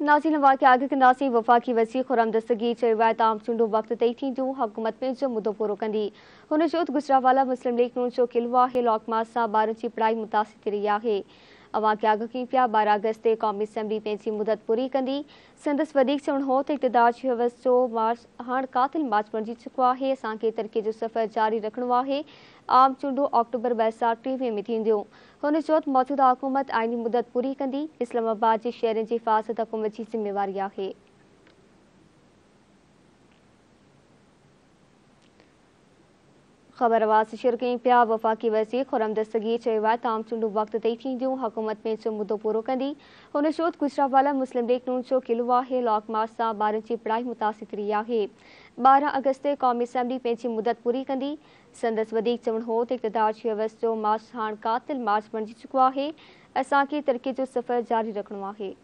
नाज़रीन वाक़ आगे कंदासीं। वफ़ाक़ी वज़ीर ख़ुरम दस्तगीर चयो आहे त आम चूंडूं वक़्त ते ई थींदियूं, हुकूमत पंहिंजो मुदो पूरो कंदी। हुन चयो त गुजरांवाला मुस्लिम लीग नून जो किलो आहे, लॉक मार्च सां ॿारनि जी पढ़ाई मुतासिर थी रही आहे। अव्हां खे आगाह कयूं पिया 12 अगस्त ते क़ौमी असेंबली पंहिंजी मुदत पूरी कंदी। संदसि वधीक चवणु हो त इक़्तिदार जी हवस जो मार्च हाणे क़ातिल मार्च बणिजी चुको आहे, असांखे तरक़ी जो सफ़र जारी रखिणो आहे। आम चूंडूं अक्टूबर 2023 में थींदियूं। हुन चयो त मौजूदा हुकूमत आइनी मुदत पूरी कंदी। इस्लामाबाद जे शहरनि जी हिफाज़त हुकूमत जी ज़िम्मेवारी आहे। ख़बर आवाज़ शेयर कयूं पिया। वफ़ाक़ी वज़ीर ख़ुरम दस्तगीर चयो आहे त आम चूंडूं वक़्त ते ई थींदियूं, हुकूमत पंहिंजो मुदो पूरो कंदी। हुन चयो त गुजरांवाला मुस्लिम लीग नून जो किलो आहे, लॉक मार्च सां ॿारनि जी पढ़ाई मुतासिर थी रही आहे। 12 अगस्त ते क़ौमी असेंबली पंहिंजी मुदत पूरी कंदी। संदसि वधीक चवणु हो त इक़्तिदार जी हवस जो मार्च हाणे क़ातिल मार्च बणिजी चुको आहे, असांखे तरक़ी जो सफ़र जारी रखिणो आहे।